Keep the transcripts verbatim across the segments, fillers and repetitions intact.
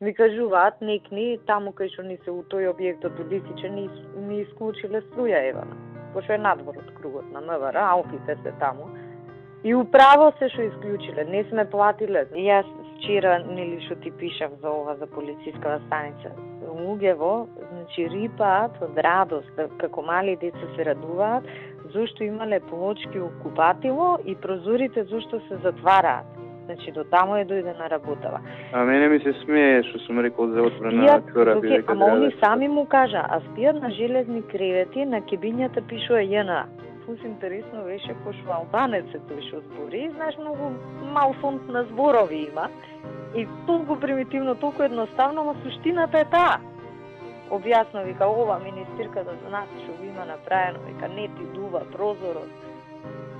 Ми кажуваат некни таму кај што ни се у тој објектот Улисиче ни, ни исклучиле струја евана. Пошто е надвор од кругот на МВР, алфите се таму. И управо се што исклучиле, не сме платиле. Јас вчера, нели што ти пишав за ова, за полициската станица, луѓево, значи рипаат од радост, како мали деца се радуваат, зашто имале плочки у купатило и прозорите зашто се затвараат. Значи до таму е дојдена работава. А мене ми се смее што сум рекол за отбрана кораби. Okay, ама они сами му кажа, а спијат на железни кревети, на кебињата пишува ЈНА. Фус интересно беше пошто албанец е тој што збори, знаеш, многу мал фонд на зборови има. И толку примитивно, толку едноставно, но суштината е таа. Објасно, вика, ова министерката за нас што го има направено, вика, не ти дува прозорот.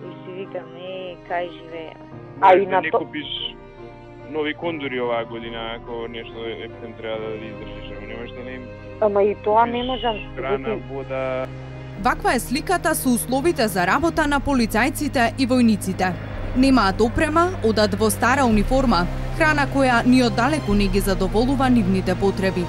И си вика, не, кај живееме. А и на не купиш нови кондури оваа година, ако нешто ептен треба да издржиш, ама немаш да не им... Ама и тоа не можам. Храна, вода... Ваква е сликата со условите за работа на полицајците и војниците. Немаат опрема, одат во стара униформа, храна која ни оддалеку не ги задоволува нивните потреби.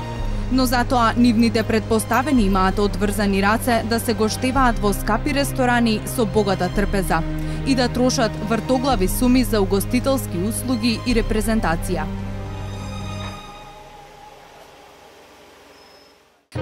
Но затоа нивните предпоставени имаат одврзани раце да се гоштеваат во скапи ресторани со богата трпеза и да трошат вртоглави суми за угостителски услуги и репрезентација.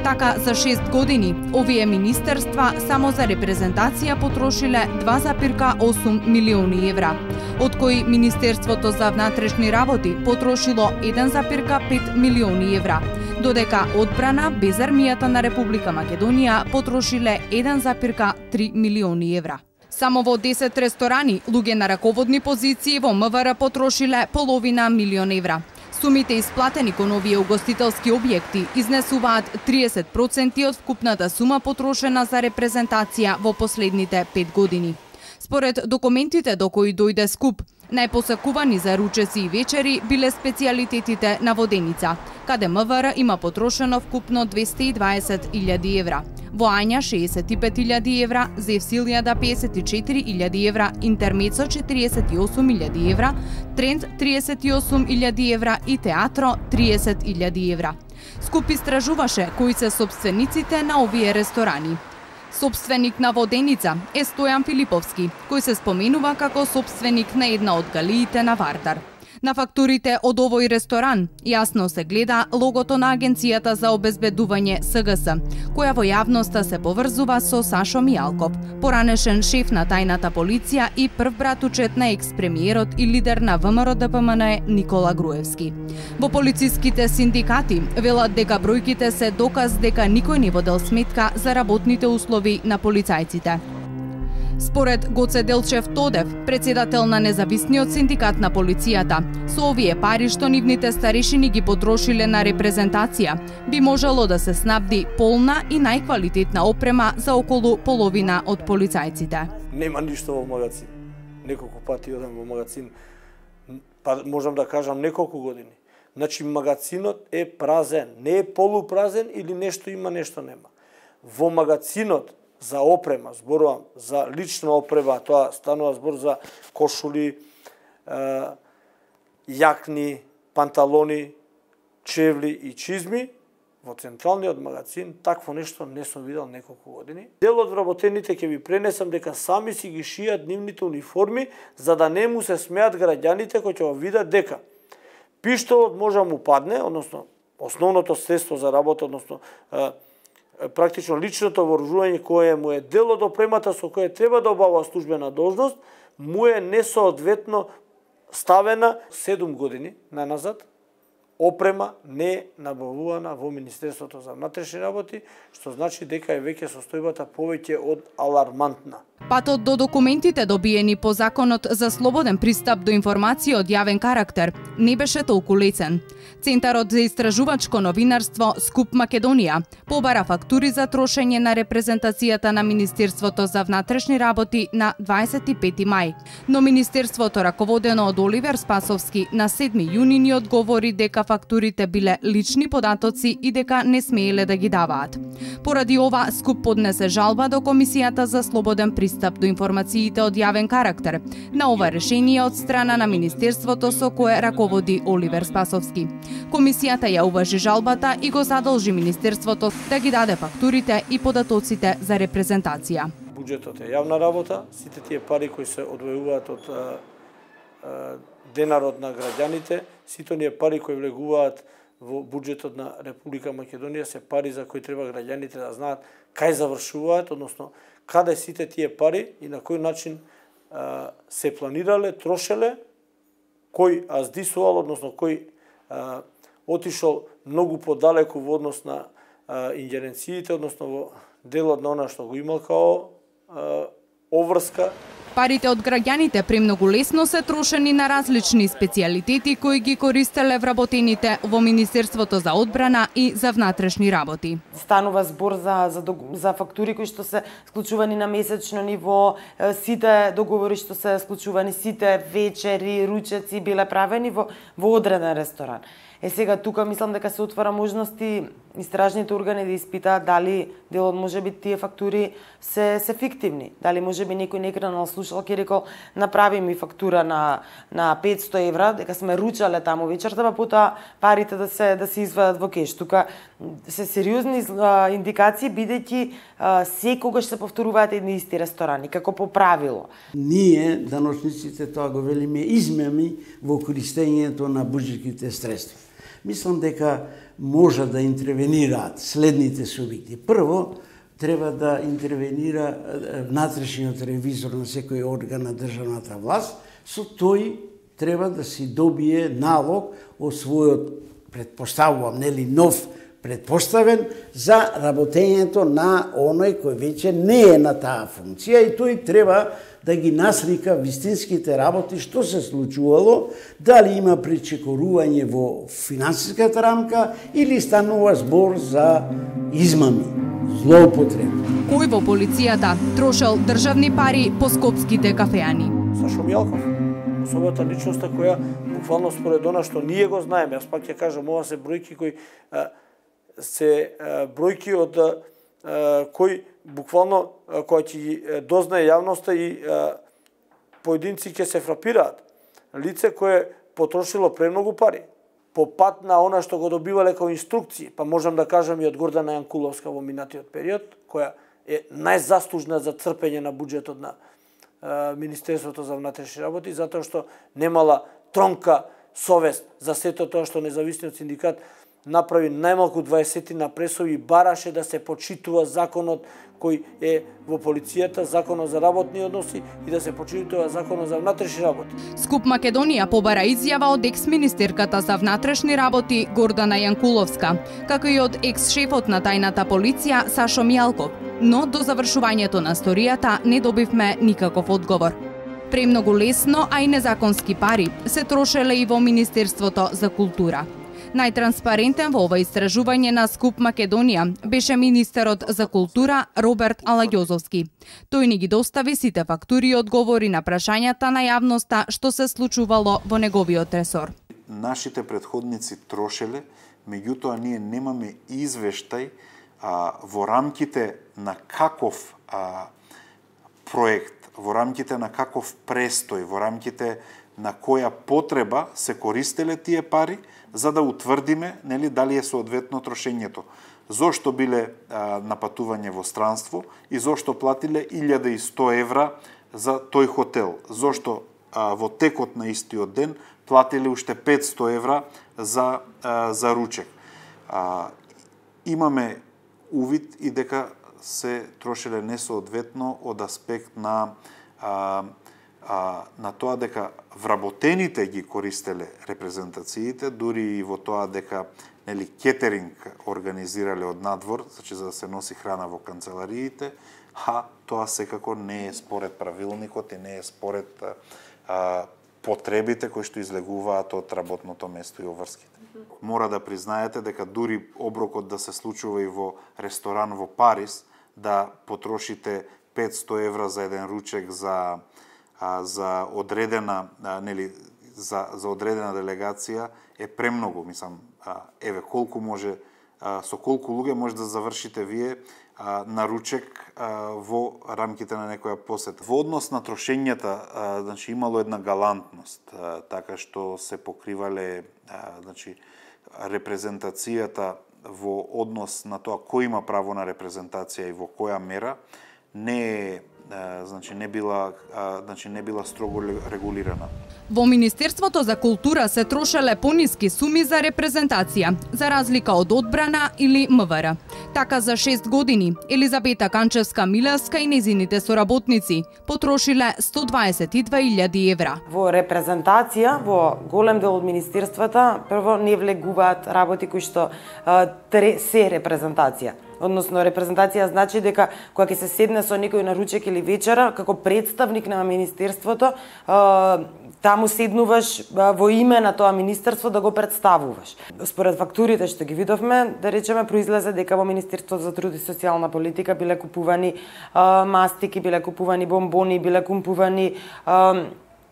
Така, за шест години, овие министерства само за репрезентација потрошиле два запирка осум милиони евра, од кои Министерството за внатрешни работи потрошило еден запирка пет милиони евра, додека одбрана без армијата на Република Македонија потрошиле еден запирка три милиони евра. Само во десет ресторани, луѓе на раководни позиции во МВР потрошиле половина милион евра. Сумите исплатени кон овие угостителски објекти изнесуваат триесет проценти од вкупната сума потрошена за репрезентација во последните пет години. Според документите до кои дојде скуп, најпосакувани за ручеци и вечери биле специјалитетите на Воденица, каде МВР има потрошено вкупно двесте и дваесет илјади евра. Во Ања шеесет и пет илјади евра, Зевсилијада пеесет и четири илјади евра, Интермецо четириесет и осум илјади евра, Тренд триесет и осум илјади евра и Театро триесет илјади евра. Скуп истражуваше кои се сопствениците на овие ресторани. Сопственик на Воденица е Стојан Филиповски, кој се споменува како сопственик на една од галиите на Вардар. На фактурите од овој ресторан јасно се гледа логото на Агенцијата за обезбедување С Г С, која во јавноста се поврзува со Сашо Мијалков, поранешен шеф на тајната полиција и прв братучет на екс-премиерот и лидер на В М Р Д П М Н Е Никола Груевски. Во полициските синдикати велат дека бројките се доказ дека никој не водел сметка за работните услови на полицајците. Според Гоце Делчев Тодев, председател на независниот синдикат на полицијата, со овие пари што нивните старешини ги потрошиле на репрезентација, би можело да се снабди полна и најквалитетна опрема за околу половина од полицајците. Нема ништо во магазин. Неколку пати одам во магазин, па можам да кажам неколку години. Значи магазинот е празен, не е полупразен или нешто има, нешто нема. Во магазинот за опрема, зборувам за лична опрема, тоа станува збор за кошули, јакни, панталони, чевли и чизми, во централниот магазин такво нешто не сум видел неколку години. Дел од вработените ќе ви пренесам дека сами си ги шијат нивните униформи, за да не му се смеат граѓаните кои ќе го видат дека пиштолот може да му падне, односно основното средство за работа, односно практично личното вооружување кое му е дел од опремата со кое треба да обава службена должност, му е несоодветно ставена седум години наназад. Опрема не е набавувана во Министерството за внатрешни работи, што значи дека е веќе состојбата повеќе од алармантна. Патот до документите добиени по Законот за слободен пристап до информација од јавен карактер не беше толку лесен. Центарот за истражувачко новинарство Скуп Македонија побара фактури за трошење на репрезентацијата на Министерството за внатрешни работи на дваесет и пети мај. Но Министерството, раководено од Оливер Спасовски, на седми јуни ни одговори дека фактурите биле лични податоци и дека не смееле да ги даваат. Поради ова, Скуп поднесе жалба до Комисијата за слободен пристап пристап до информациите од јавен карактер. На ова решение од страна на Министерството со кое раководи Оливер Спасовски. Комисијата ја уважи жалбата и го задолжи Министерството да ги даде фактурите и податоците за репрезентација. Буџетот е јавна работа, сите тие пари кои се одвојуваат од а, а, денарот на граѓаните, сите оние пари кои влегуваат во буџетот на Република Македонија се пари за кои треба граѓаните да знаат кај завршуваат, односно каде сите тие пари и на кој начин а, се планирале, трошеле, кој аздисувал, односно кој а, отишол многу подалеку во однос на а, ингеренциите, односно во делот на она што го имал као а, обврска. Парите од граѓаните премногу лесно се трошени на различни специјалитети кои ги користеле вработените во Министерството за одбрана и за внатрешни работи. Станува збор за, за, за фактури кои што се склучувани на месечно ниво, сите договори што се склучувани, сите вечери, ручеци биле правени во, во одреден ресторан. Е сега тука мислам дека се отвара можности истражните органи да испитаат дали делот можеби тие фактури се се фиктивни, дали можеби некој некранал слушалки рекол направи ми фактура на на петсто евра дека сме ручале таму вечерта, па потоа парите да се да се извадат во кеш. Тука се сериозни а, индикации бидејќи секогаш се повторуваат едни исти ресторани како по правило. Ние даночниците тоа го велиме измами во користењето на буџетските средства. Мислам дека може да интервенираат следните субјекти. Прво, треба да интервенира внатрешниот ревизор на секој орган на државната власт, со тој треба да си добие налог од својот, предпоставувам, нели, нов предпоставен за работењето на оној кој веќе не е на таа функција и тој треба да ги наслика вистинските работи, што се случувало, дали има пречекорување во финансиската рамка или станува збор за измами, злоупотреба. Кој во полицијата трошел државни пари по скопските кафеани? Сашо Мјалков, особата личноста која буквално според она што ние го знаеме, јас пак ќе кажам, ова се бројки кои а, се а, бројки од а, кои буквално која ќе ги дознае јавноста и а, поединци ќе се фрапираат. Лице кое потрошило премногу пари по пат на она што го добивале како инструкции, па можам да кажам и од Гордана Јанкуловска во минатиот период, која е најзаслужна за црпење на буџетот на а, Министерството за внатрешни работи, затоа што немала тронка совест за сето тоа што независниот синдикат направи најмалку дваесетина пресови и бараше да се почитува законот кој е во полицијата, законот за работни односи и да се почитува законот за внатрешни работи. Скуп Македонија побара изјава од екс-министерката за внатрешни работи Гордана Јанкуловска, како и од екс-шефот на тајната полиција Сашо Мјалков, но до завршувањето на историјата не добивме никаков одговор. Премногу лесно, а и незаконски пари се трошеле и во Министерството за култура. Најтранспарентен во ова истражување на Скуп Македонија беше министерот за култура Роберт Алагјозовски. Тој ни ги достави сите фактури и одговори на прашањата на јавноста што се случувало во неговиот ресор. Нашите претходници трошеле, меѓутоа ние немаме извештај а, во рамките на каков а, проект, во рамките на каков престој, во рамките на која потреба се користеле тие пари, за да утврдиме нели дали е соодветно трошењето. Зошто биле а, напатување во странство и зошто платиле илјада и сто евра за тој хотел. Зошто а, во текот на истиот ден платиле уште петсто евра за а, за ручек. А, имаме увид и дека се трошеле несоодветно од аспект на а, а, на тоа дека вработените ги користеле репрезентациите, дури и во тоа дека нели кетеринг организирале од надвор, значи за да се носи храна во канцелариите, а тоа секако не е според правилникот и не е според а, потребите кои што излегуваат од работното место и обврските. Мора да признаете дека дури оброкот да се случува и во ресторан во Париз, да потрошите петсто евра за еден ручек за а, за одредена а, нели за за одредена делегација е премногу, мислам, а, еве колку може а, со колку луѓе може да завршите вие а, на ручек а, во рамките на некоја посета. Во однос на трошењата, а, значи имало една галантност, а, така што се покривале а, значи репрезентацијата во однос на тоа кој има право на репрезентација и во која мера не е значи не била значи не била строго регулирана. Во Министерството за култура се трошеле пониски суми за репрезентација, за разлика од одбрана или МВР. Така за шест години Елизабета Канчевска-Милевска и незините соработници потрошиле сто дваесет и две илјади евра. Во репрезентација во голем дел од министерствата прво не влегуваат работи кои што тре се репрезентација. Односно, репрезентација значи дека кога ќе се седне со некој на ручек или вечера, како представник на министерството, таму седнуваш во име на тоа министерство да го представуваш. Според фактурите што ги видовме, да речеме, произлезе дека во Министерството за труд и социјална политика биле купувани мастики, биле купувани бомбони, биле купувани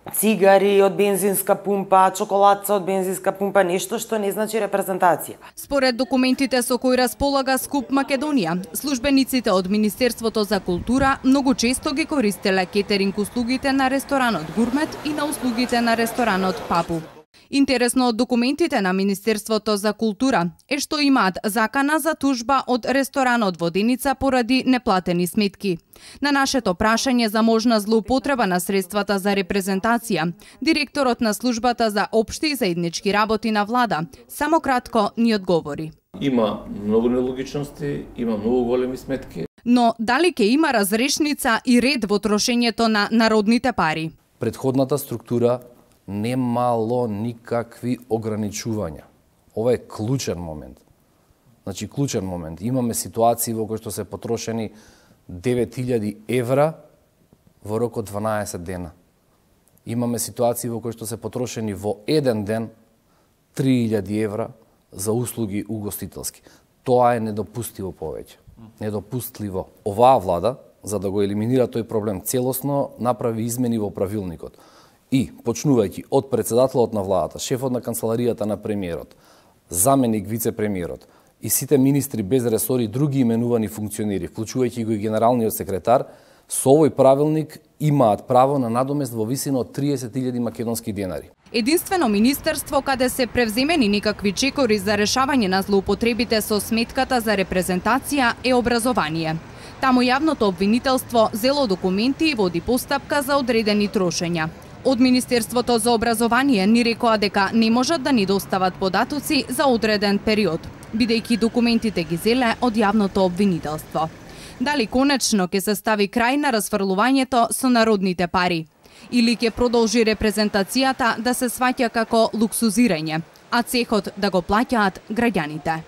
цигари од бензинска пумпа, чоколадца од бензинска пумпа, нешто што не значи репрезентација. Според документите со кои располага СКУП Македонија, службениците од Министерството за култура многу често ги користеле кетеринг услугите на ресторанот Гурмет и на услугите на ресторанот Папу. Интересно од документите на Министерството за култура е што имаат закана за тужба од ресторанот Воденица поради неплатени сметки. На нашето прашање за можна злоупотреба на средствата за репрезентација, директорот на службата за општи и заеднички работи на влада само кратко ни одговори. Има многу нелогичности, има многу големи сметки. Но дали ќе има разрешница и ред во трошењето на народните пари? Предходната структура немало никакви ограничувања. Ова е клучен момент. Значи, клучен момент. Имаме ситуации во кои што се потрошени девет илјади евра во рок од дванаесет дена. Имаме ситуации во кои што се потрошени во еден ден три илјади евра за услуги угостителски. Тоа е недопустиво повеќе. Недопустливо. Оваа влада, за да го елиминира тој проблем целосно, направи измени во правилникот. И, почнувајќи од председателот на владата, шефот на канцеларијата на премиерот, заменик вице-премиерот и сите министри без ресори и други именувани функционери, вклучувајќи го и генералниот секретар, со овој правилник имаат право на надомест во висина од триесет илјади македонски денари. Единствено министерство каде се превземени никакви чекори за решавање на злоупотребите со сметката за репрезентација е образование. Таму јавното обвинителство зело документи и води постапка за одредени трошења. Од Министерството за образование ни рекоа дека не можат да ни достават податоци за одреден период, бидејќи документите ги зеле од јавното обвинителство. Дали конечно ќе се стави крај на расфрлувањето со народните пари? Или ќе продолжи репрезентацијата да се сваќа како луксузирање, а цехот да го плаќаат граѓаните?